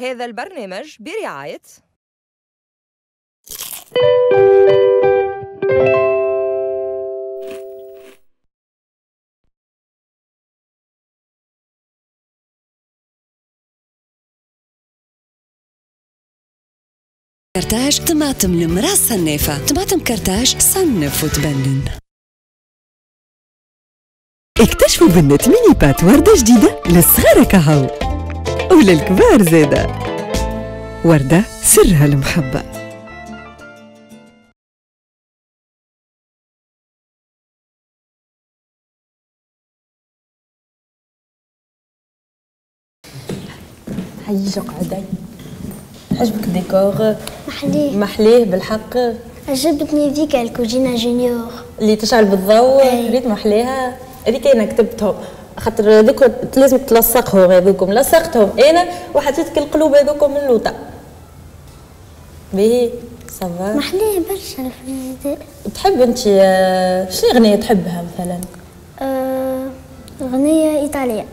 هذا البرنامج برعاية كرتاج طماطم المرأة الصنافة. طماطم كرتاج صنف وتبنن. اكتشفوا بنة mini pâte وردة جديدة للصغار كهو وللكبار زادة. وردة سرها المحبة. هيا قعدي. عجبك الديكور؟ محليه محليه بالحق. عجبتني ذيك الكوجينة junior اللي تشعل بالضوء، ريت محليها هذيك. انا كتبتهم خاطر ذوك لازم تلصقهم، هذوكم لصقتهم انا وحطيت القلوب هذوكم من اللوطه. باهي ça va محليه برشا الفريزيدير. تحب انت شنو اغنية تحبها مثلا؟ اغنية ايطالية.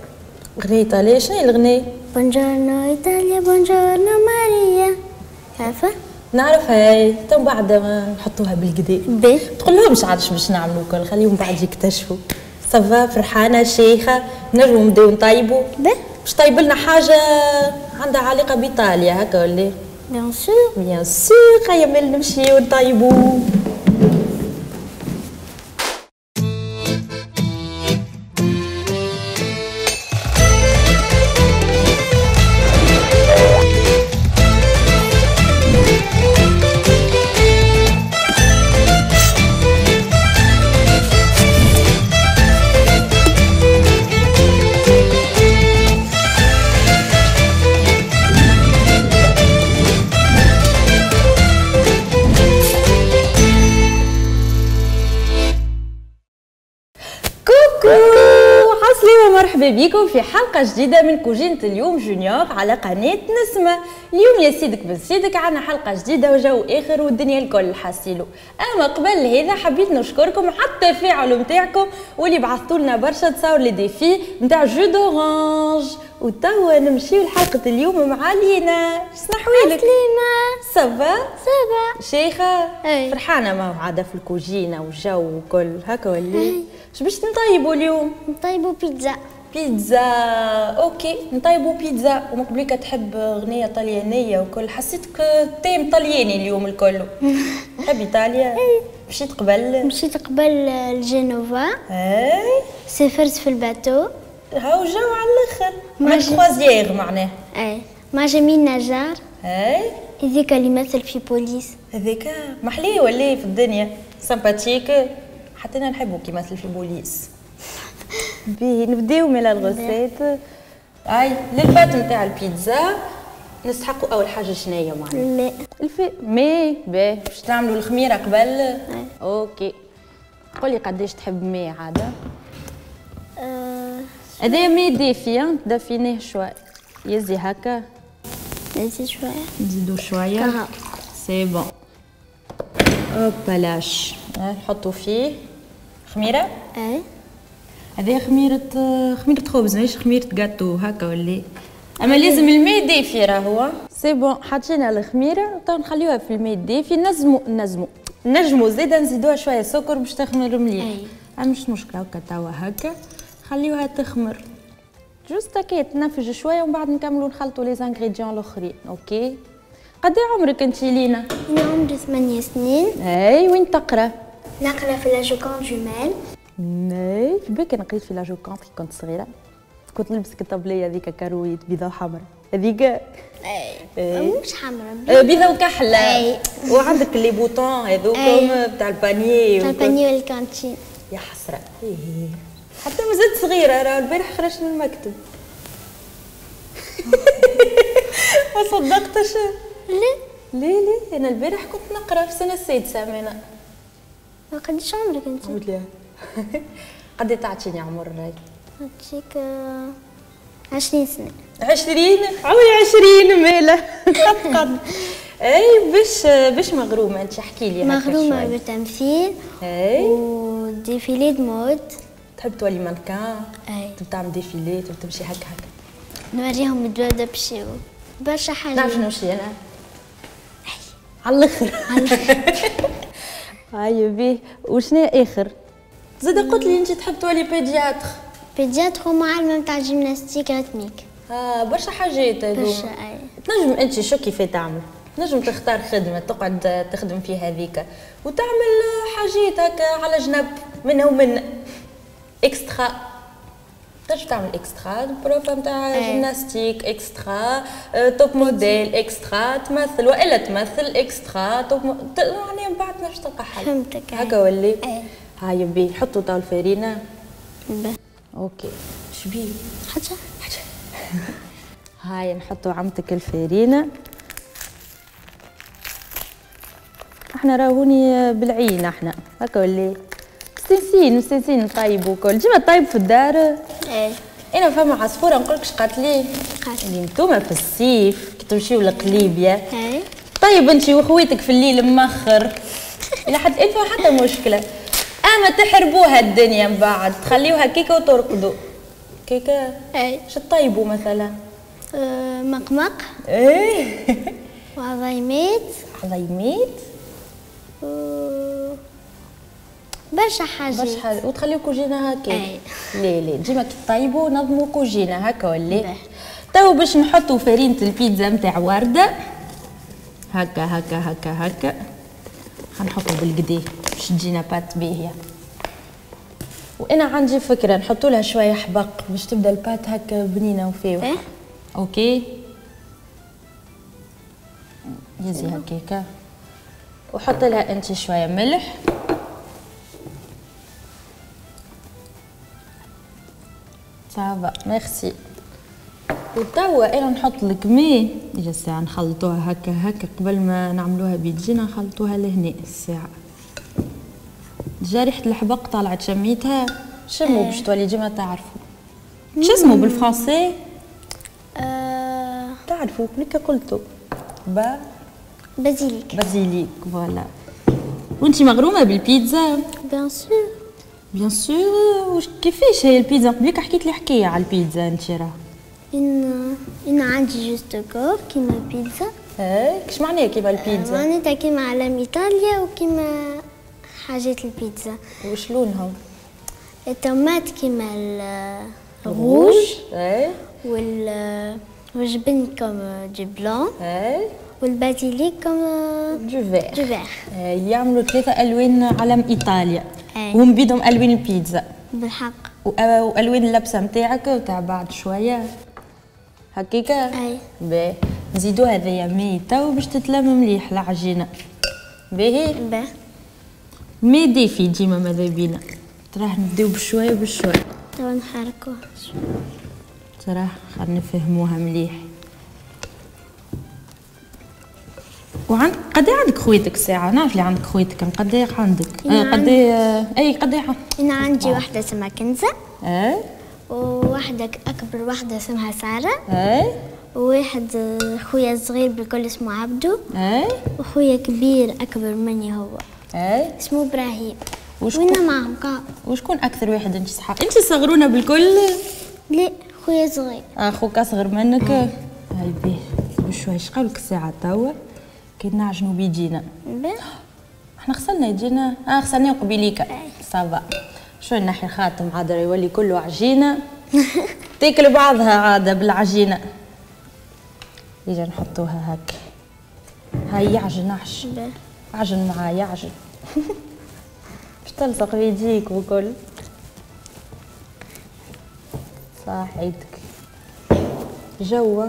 اغنية ايطالية، شنو هي الاغنية؟ Buongiorno Italia، buongiorno Maria. عارفه؟ نعرفها هاي، تو بعد نحطوها بالكدا. باهي تقول لهمش عادش باش نعملوا كل، خليهم بعد يكتشفوا. ça va فرحانة شيخه، نجمو نبداو نطيبوا. باهي باش طيب لنا حاجة عندها علاقة بايطاليا هكا ولا؟ bien sûr bien sûr. هيا مال نمشيو نطيبوا. مرحبا بكم في حلقة جديدة من كوجينة اليوم junior على قناة نسمة. اليوم يا سيدك بن سيدك عندنا حلقة جديدة وجو آخر والدنيا الكل حاسيلو. أما قبل هذا حبيت نشكركم على التفاعل نتاعكم واللي بعثتوا لنا برشا تصاور les défis نتاع jus d'orange. وتوا نمشيو لحلقة اليوم مع لينا. شنو حوالك؟ عسلامة. ça va؟ ça va. شيخة؟ أي. فرحانة ما عادة في الكوجينة والجو وكل هكا ولا؟ اش باش نطيبوا اليوم؟ نطيبوا بيتزا. بيتزا، OK نطيبوا بيتزا. ومن قبليك تحب اغنية طليانيه وكل، حسيتك thème طلياني اليوم الكل. تحب ايطاليا؟ مشيت قبل؟ مشيت قبل لجنوفا. اي سافرت في ال bateau. هاو جو على الاخر، مع croisière معناه. اي مع جميل نجار. اي هذيك اللي مثل في بوليس. هذيك محليه ولا في الدنيا sympathique، حتى انا نحبو كي مثل في بوليس. باهي نبداو من ال recette. اي لل pâte نتاع البيتزا نستحقوا اول حاجة شناهي معنا؟ الماء. ماء. باهي باش نعملوا الخميره قبل. OK قولي قداش تحب ماء عادة؟ هذايا ماء دافي، دافيناه شوي يزي هكا. نزيد شوية. نزيدو شوية. c'est bon. hop لاش نحطو فيه خميره. اي هذه خميرة، خميرة خبز ماهيش خميرة جاتو هكا ولا؟ اما لازم الماء دافي راهو. c'est bon حطينا الخميرة تو نخليوها في الماء الدافي. نجمو زادا نزيدوها شوية سكر باش تخمر مليح. اما مش مشكلة هكا توا هكا خليوها تخمر juste هكا تنفج شوية ومن بعد نكملو نخلطو les ingrédients الاخرين. OK قد عمرك انت لينا؟ انا عمري 8 سنين. اي وين تقرا؟ نقرا في La Joconde jumelles. اي في بالك انا قريت في La Joconde كي كنت صغيرة، كنت نلبس الطبلية هذيك كارويت بيضاء وحمراء هذيك. اي مش حمراء، بيضاء وكحله. وعندك les boutons هذوكم تاع ال panier. تاع ال panier وال cantine. يا حسرة حتى مازلت صغيرة، راه البارح خرجت من المكتب. ما صدقتش. ليه؟ ليه ليه؟ انا البارح كنت نقرا في السنة السادسة. انا ما قديش عمرك انت؟ لا قد تعطيني عمر راي؟ نعطيك 20 سنة. 20؟ عمري 20 مالا. قد قد. اي باش مغرومه انت؟ احكي لي. مغرومه بالتمثيل. اي و défilé de mode. تحب تولي مانكان؟ اي. تحب تعمل défilé، تحب تمشي هكا هكا؟ نوريهم الدوادة بشيو. برشا حاجات. نعرف نمشي انا على الاخر. هاي بيه. وشنو اخر؟ زاد قلت لي انت تحب تولي pédiatre. pédiatre ومعلمه نتاع gymnastique rythmique. برشا حاجات هذوما. برشا اي. تنجم انت شو كيف تعمل؟ تنجم تختار خدمة تقعد تخدم فيها هذيك وتعمل حاجات هكا على جنب منها ومن extra. تنجم تعمل extra prof نتاع gymnastique، extra top modèle، extra تمثل والا تمثل extra top يعني من بعد تنجم تلقى حل. فهمتك. هكا ولي. هاي بي نحطوا تو الفارينه. OK شبيه حاجة حاجة. هاي نحطوا عمتك الفارينه. احنا راهوني بالعين احنا هكا ولي مستنسين مستنسين نطيبوا كل ديما طيب في الدار. ايه انا فما عصفوره نقول لك قالت لي اللي انتوما في الصيف كي تمشيو لقليبيا. ايه طيب انت وخويتك في الليل مخر الى حد الان فما حتى مشكلة، اما تحربوها الدنيا من بعد تخليوها كيكة وترقدوا كيكة. ايه شو تطيبوا مثلا؟ مقمق. ايه وعظيمات. عظيمات برشا حاجات. برشا حاجات وتخليو كوجينه هكا. لا لا ديما كي طيبوا نظموا كوجينه هكا ولا. تو باش نحطوا فرينه البيتزا نتاع ورده هكا هكا هكا هكا، حنحطوا بالقدي باش تجينا pâte باهيه. وانا عندي فكرة نحطوا لها شوية حبق باش تبدا ال pâte هكا بنينه وفاوحه. OK يزي هكاكا. وحط لها انت شوية ملح. ça va merci. وتوا انا نحط لك مي اجا الساعة نخلطوها هكا هكا قبل ما نعملوها بيدينا نخلطوها لهنا الساعة. déjà ريحه الحبق طلعت شميتها شمو باش تولي ديما تعرفوا شو اسمه بالفرنسي. تعرفوا كلك قلتو با basilic. basilic voilà. وانت مغرومه بالبيتزا؟ bien sûr bien sûr. كيفاش هي البيتزا؟ قبلك حكيت لي حكاية على البيتزا انت راه. إن عندي justaucorps كيما البيتزا. ايه كش معناها كيما البيتزا؟ معناتها كيما علم ايطاليا وكيما حاجات البيتزا. وش لونهم؟ الطماط كيما الروج. ايه والجبن comme du blanc. ايه وال basilic comme du vert. du vert. يعملوا ثلاثة ألوان علم إيطاليا. وهم بيدهم ألوان البيتزا. بالحق. وألوان اللبسة نتاعك وتاع بعد شوية. هكاكا؟ أي. باهي، نزيدو هذايا مي تو باش تتلم مليح العجينة. باهي؟ باهي. مي دافي ديما ماذا بينا. تراه نبداو بشوية بشوية. تو نحركوها. تراه خلينا نفهموها مليح. وعند قد عندك خويتك ساعة؟ نعرف اللي عندك خويتك، قد عندك؟ قد اي قد انا عندي واحدة اسمها كنزة. ايه وواحدة أكبر واحدة اسمها سارة. ايه وواحد خويا الصغير بالكل اسمه عبدو. ايه وخويا كبير أكبر مني هو. ايه اسمه إبراهيم. وشكون معهم كا؟ وشكون أكثر واحد أنت صحاب؟ أنت صغرونا بالكل؟ لا خويا صغير. خوك أصغر منك؟ هاي بيه بشوي. اش قالك الساعة توا؟ كي نعجنو بيدينا. احنا غسلنا يدينا، غسلناه قبيليكا. ça va. شو نحي الخاتم عاد يولي كله عجينه. تاكل بعضها عادة بالعجينه. يجي نحطوها هكا. هاي يعجن عجن. عجن معاه يعجن. باش تلصق بيديك وكل. صح عيدك. جوا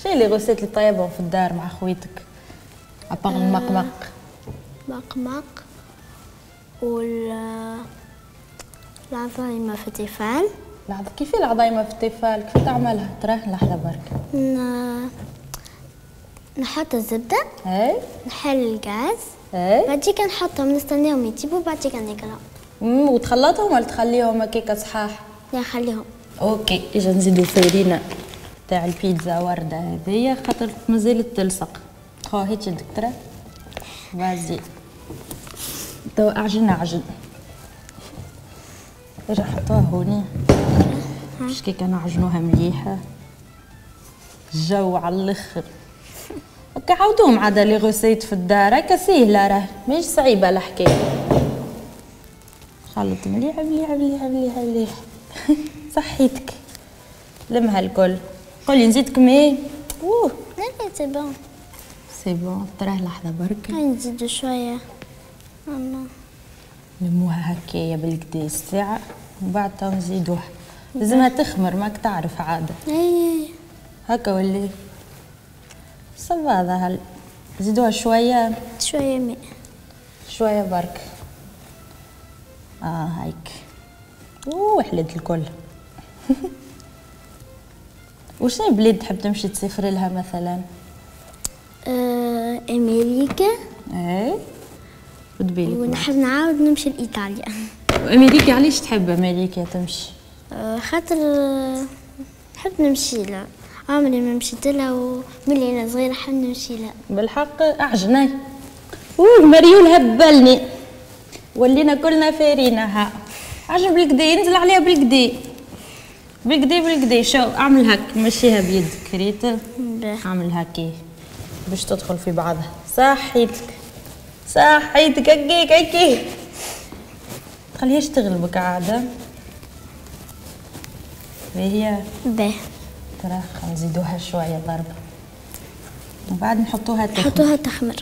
شنو les recettes اللي طيبهم في الدار مع خويتك؟ à part المقمق. مقمق وال العظايمة في التيفال. كيف العظايمة في التيفال؟ كيف تعملها؟ تراه لحظة برك. نحط الزبدة. اي نحل الغاز. اي بعديك نحطهم نستناهم يطيبوا بعديك ناكلهم. وتخلطهم ولا تخليهم هكاكا صحاح؟ لا نخليهم. OK اجا نزيدو فرينة تاع البيتزا وردة هذيا خاطر مازالت تلصق. خو هيك يدك ترى. vas-y تو اعجن اعجن. اجا حطوها هوني باش كيكا نعجنوها مليحة. جو على الاخر. هكا عاودوهم عاد les recettes في الدار، هكا ساهله راه ماهيش صعيبة الحكاية. خلط مليح مليح مليح مليح مليح. صحيتك لمها الكل. قولي نزيدك ماء؟ اوه لا لا c'est bon c'est bon. تراه لحظة برك نزيدو شوية ماما. نلموها هكايا بالكدا الساعة ومن بعد تو نزيدوها. لازمها تخمر ماك تعرف عادة. اي هكا ولا ça va هذا. زيدوها شوية شوية ماء شوية برك. هايك اوه حلت الكل. وشنو بلاد تحب تمشي تسافر لها مثلا؟ امريكا. اي وتبالك. ونحب نعاود نمشي لايطاليا. وامريكا علاش تحب امريكا تمشي؟ خاطر نحب نمشي لها، عمري ما مشيت لها وملي انا صغيرة نحب نمشي لها. بالحق اعجني. اوه مريول هبلني، ولينا كلنا فارينه. ها عجب بالكدا، ينزل عليها بالكدا بالكدا بالكدا. شو اعمل هك، مشيها بيدك ريت، اعمل هكا باش تدخل في بعضها. صحيتك صحيتك هكيك هكيك، تخليهاش تغلبك عادة. باهيه باهي. ترى نزيدوها شوية ضربه ومن بعد نحطوها تخمر. نحطوها تخمر.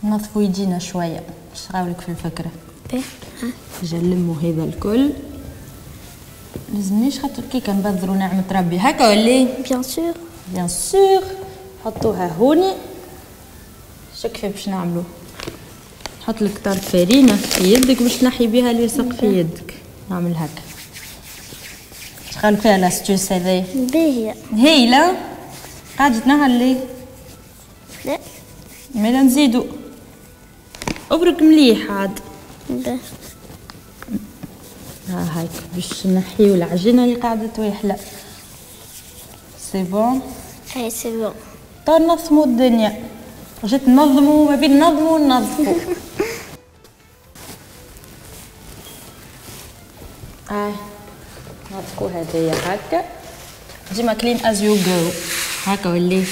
نظفوا يدينا شوية باش نراولك في الفكرة. باهي. نلموا هذا الكل. لازمنيش خاطر كيكا نبذروا نعمه ربي هكا ولا؟ bien sûr bien sûr. حطوها هوني. شو كيف باش نعملو؟ نحط لك طرف فرينه في يدك باش تنحي بها اللي يلصق في يدك. نعمل هكا. شغال فيها l'astuce هذايا. باهيه هايلة. قاعدة تنهر ليه؟ لا مالا نزيدو. ابرك مليح عاد. باهي. ها هاك باش نحيو العجينة اللي قاعدة تويحله. c'est bon؟ اي c'est bon. تو نظمو الدنيا. جيت ننظمو ما بين نظمو وننظفو. نظفو هذايا هكا. ديما clean as you go هكا ولي.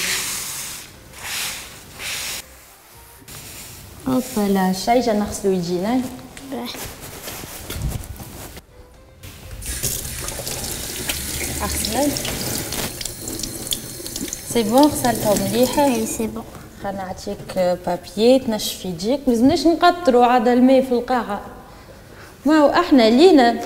hop là شايجه نغسلو يدينا. اغسل. c'est bon غسلتهم مليحة. اي c'est bon. خلينا نعطيك papier تنشف يديك. ملزمناش نقطرو عاد الماء في القاعة. ما هو احنا لينا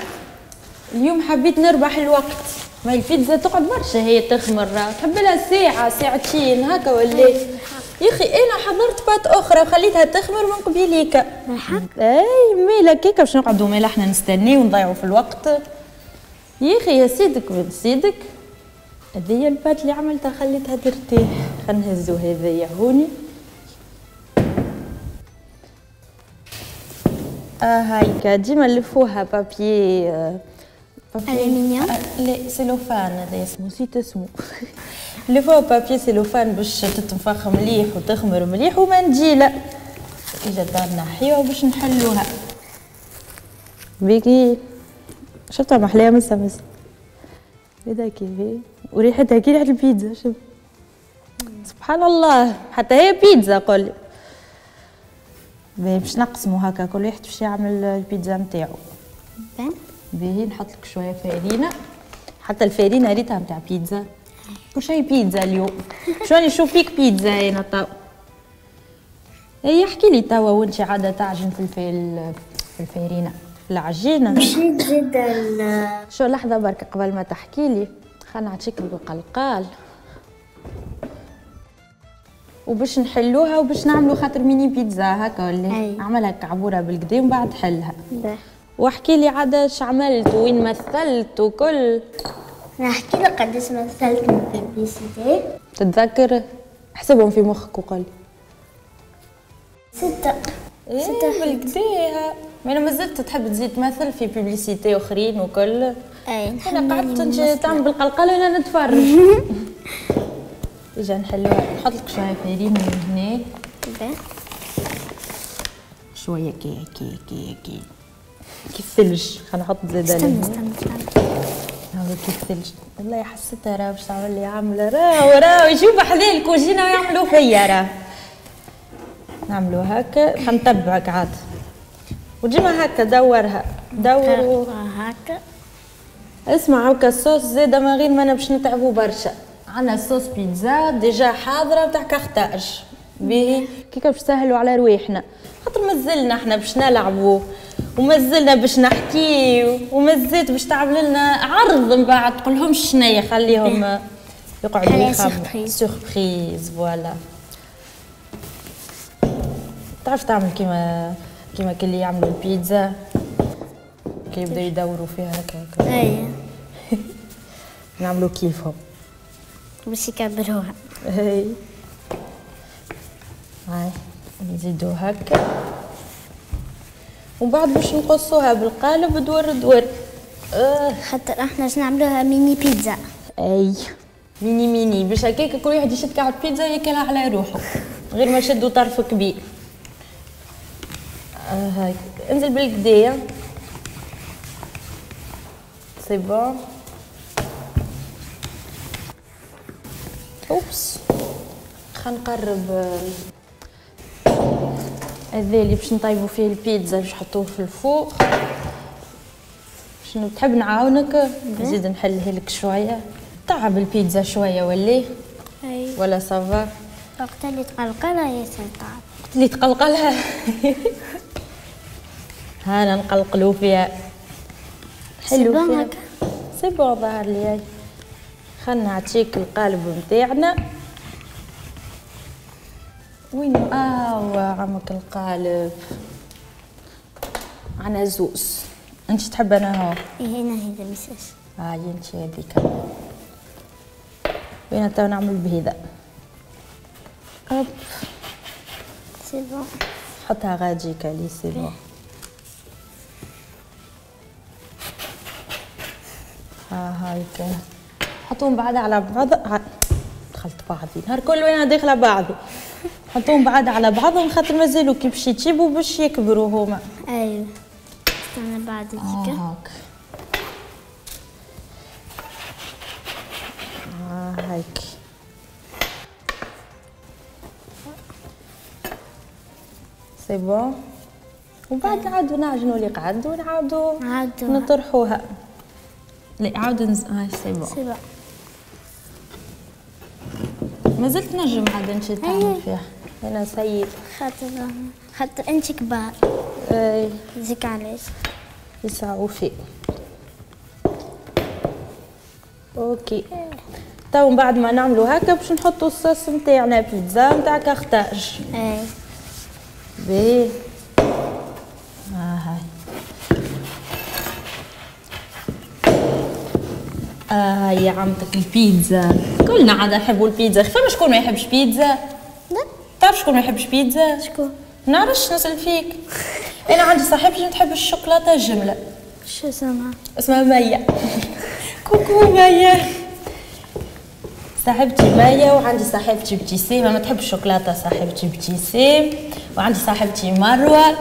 اليوم حبيت نربح الوقت. ما البيتزا تقعد برشا هي تخمر، تحب لها ساعة ساعتين هكا ولا. يا اخي انا حضرت pâte اخرى وخليتها تخمر من قبيليك. بالحق؟ اي ميلا كيكا باش نقعدوا ميلا احنا نستناو ونضيعوا في الوقت. يا اخي يا سيدك بن سيدك، هذه ال pâte اللي عملتها خليتها ترتاح. خلينا نهزو هذايا هوني. هايكا ديما نلفوها papier الومنيوم. لا سيلوفان هذا اسمه، نسيت اسمه. نلفوها papier cellophane باش تتنفخ مليح وتخمر مليح. ومنديله اجا دارنا نحيوها باش نحلوها. بيكي شفتها محلية مسا مسا هذا كيف وريحتها كي ريحة البيتزا. شوف سبحان الله حتى هي بيتزا. قولي باش نقسمو هكا كل واحد باش يعمل البيتزا نتاعو. باهي نحط لك شوية فرينه. حتى الفرينة ريتها نتاع بيتزا. كل شيء بيتزا اليوم. شو راني نشوف فيك بيتزا انا تو. اي احكي لي توا وانت عادة تعجن في الفرينة في العجينة. مشيت زيد شو لحظة برك قبل ما تحكي لي خلينا نعطيك القلقال وباش نحلوها وباش نعملوا خاطر ميني بيتزا هكا ولا. اعملها كعبوره بالكدا ومن بعد حلها. واحكي لي عاد اش عملت وين مثلت وكل. نحكي لك قداش مثلت من publicité. تتذكر؟ احسبهم في مخك وقول. 6. 6 بالكدا. ما مازلت تحب تزيد تمثل في publicité اخرين وكل. اي انا قعدت انت تعمل بالقلقله وانا نتفرج. اجا نحلوها. نحط لك شوية فرينه من هنا. شوية كي كي كي كي كي الثلج. خلينا نحط زاده. استنى استنى استنى. نعملوا كيف ثلج. والله حسيتها راه باش تعمل لي عامله راه راه يجيو بحذا الكوجينه ويعملوا فيا راه. نعملوا هكا حنتبعك عاد وديما هكا دورها دور هكا. اسمع هكا الصوص زاده من غير ما انا باش نتعبوا برشا. عندنا sauce pizza déjà حاضره تاع كارتاج باهي كيكا باش نسهلوا على رواحنا خاطر مازلنا احنا باش نلعبوا ومازلنا باش نحكيو ومازلت باش تعمل لنا عرض من بعد تقولهمش شنيا خليهم يقعدوا يخمموا surprise voilà. تعرف تعمل كيما كي يعملوا البيتزا كي يبداو يدوروا فيها هكا. اي نعملوا كيفهم باش يكبروها. اي هاي نزيدو هكا ومن بعد باش نقصوها بالقالب دور دور. خاطر احنا باش نعملوها mini pizza. اي mini mini باش هكاك كل واحد يشد كعب بيتزا ياكلها على روحه غير ما يشدوا طرف كبير. هاي انزل بالقدايه c'est bon. oups خلينا نقرب هذا اللي باش نطيبو فيه البيتزا باش نحطوه في ال four. شنو تحب نعاونك؟ نزيد نحلها لك شوية. تعب البيتزا شوية ولا؟ اي ولا ça va؟ وقت اللي تقلقلها ياسر تعب. وقت اللي تقلقلها هانا نقلقلو فيها. حلو فيها c'est bon ظهر لي. خلنا نعطيك القالب نتاعنا. وين عمك القالب؟ عنا زوز. انت تحب انا هو؟ ايه انا هذا ميساش. انت هذيك. وين تو نعمل بهذا؟ hop c'est bon. حطها غاديك لي c'est bon. هايك حطوهم بعد على بعض. دخلت بعضي نهار كل وانا داخله بعضي. حطوهم بعد على بعضهم خاطر مازالوا كي باش يطيبوا باش يكبروا هما. ايوه استنى بعد هكا. هاك هايك c'est bon. وبعد نعاودو نعجنوا اللي قعد ونعاودو نطرحوها. لا عاود هاي c'est bon. c'est bon مازلت نجم عاد انت تعمل فيها. انا سيد خاطر انت كبار. اي زيك علاش يسعوا في. OK تو من بعد ما نعملوا هكا باش نحطوا الصوص نتاعنا بيتزا نتاع كارتاج. اي باهي. هاي يا عمتك البيتزا. كلنا عاد نحبوا البيتزا. فما شكون ما يحبش بيتزا؟ لا تعرف شكون ما يحبش بيتزا؟ شكون؟ نعرفش نسأل فيك. انا عندي صاحبتي ما تحبش الشوكولاتة الجملة. شو اسمها؟ اسمها ميا. coucou ميا. صاحبتي ميا وعندي صاحبتي ابتسام ما تحبش الشوكولاتة. صاحبتي ابتسام وعندي صاحبتي مروه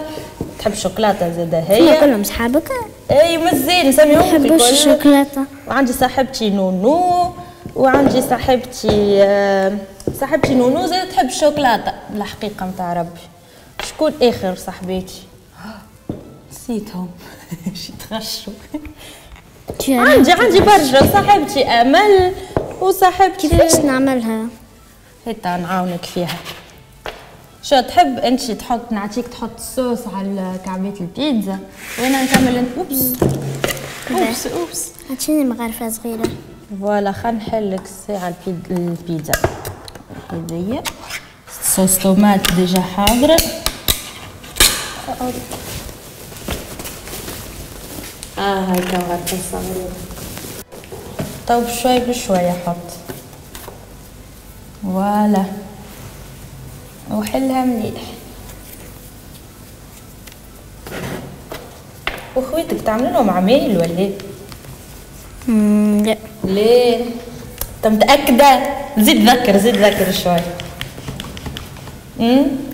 تحب الشوكولاتة زاده هي. كلهم صحابك؟ اي مازال نسميهم ما يحبوش الشوكولاتة. وعندي صاحبتي نونو وعندي صاحبتي صاحبتي نونو زاده تحب الشوكولاتة الحقيقة نتاع ربي. شكون اخر صاحباتي؟ نسيتهم. شي تغشوا. عندي برشا صاحبتي امل وصاحبتي. كيفاش نعملها؟ هتا نعاونك فيها. شو تحب انت تحط؟ نعطيك تحط الصوص على كعبات البيتزا وانا نكمل. oups oups oups عطيني مغرفه صغيرة. voilà خلينا نحلك الساعة البيتزا هذيا. sauce tomate déjà حاضره. هاي كمغرفه صغيرة. تو بشوي بشوي حط. voilà وحلها مليح. وخويتك تعمل لهم عمايل ولا؟ لا. ليه؟ انت متأكدة؟ زيد ذكر زيد ذكر شوي.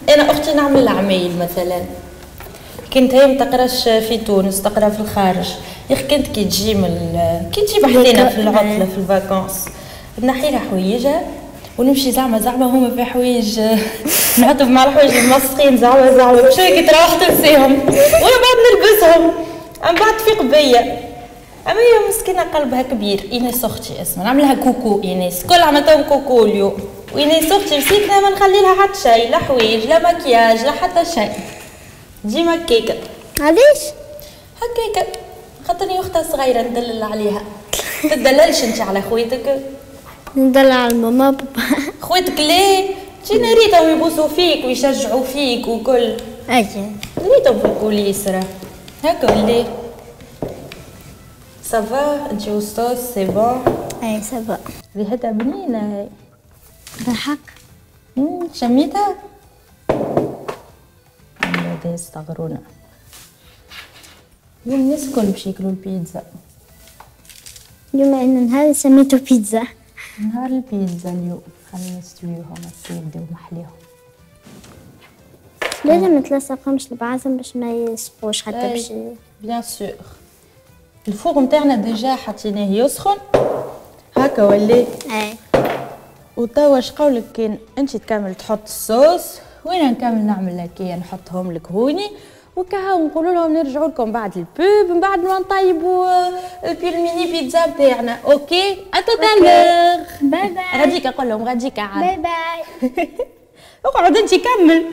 انا اختي نعمل عمايل مثلا. كنت هي ما تقراش في تونس، تقرا في الخارج. يا اخي كنت كي تجي كي تجي بحذينا في العطلة في ال vacances نحي لها حوايجها ونمشي زعما زعما هما في حوايج نعطف مع الحوايج المسخين زعما زعما باش كي تروح تنساهم وانا بعد نلبسهم، من بعد تفيق بيا. اما هي مسكينه قلبها كبير. ايناس اختي اسمها، نعملها coucou ايناس، كل عملتهم coucou اليوم. وايناس اختي مسكينه ما نخلي لها حتى شيء، لا حوايج لا مكياج لا حتى شيء، ديما كيكة. علاش؟ هكاكا خاطرني اختها صغيرة ندلل عليها. تدللش انت على خويتك؟ ندلل على الماما بابا. خويتك ليه؟ تجينا ريتهم يبوسوا فيك ويشجعوا فيك وكل. اي ريتهم في ال coulisses راه هكا ولا؟ ça va انت وال sauce c'est bon؟ اي ça va. ريحتها بنينه هاي. بالحق؟ شميتها؟ هذا يستغرونا اليوم الناس الكل باش ياكلوا البيتزا. اليوم ان نهار سميتو بيتزا. نهار البيتزا اليوم. خلينا نستويوهم يبداو محليهم. لازم تلصقهمش لبعضهم باش ما يسقوش حتى باش bien sûr. ال four نتاعنا déjà حطيناه يسخن هكا ولا؟ اي. وتوا اش قولك كان انت تكمل تحط الصوص وانا نكمل نعمل لك نحطهم لك هوني وكها، ونقولوا لهم نرجعوا لكم بعد ال pub من بعد ما نطيبوا البيلميني بيتزا بتاعنا. OK à tout à l'heure. bye bye. غاديك اقول لهم غاديك عاد. bye bye. اقعد انت كمل.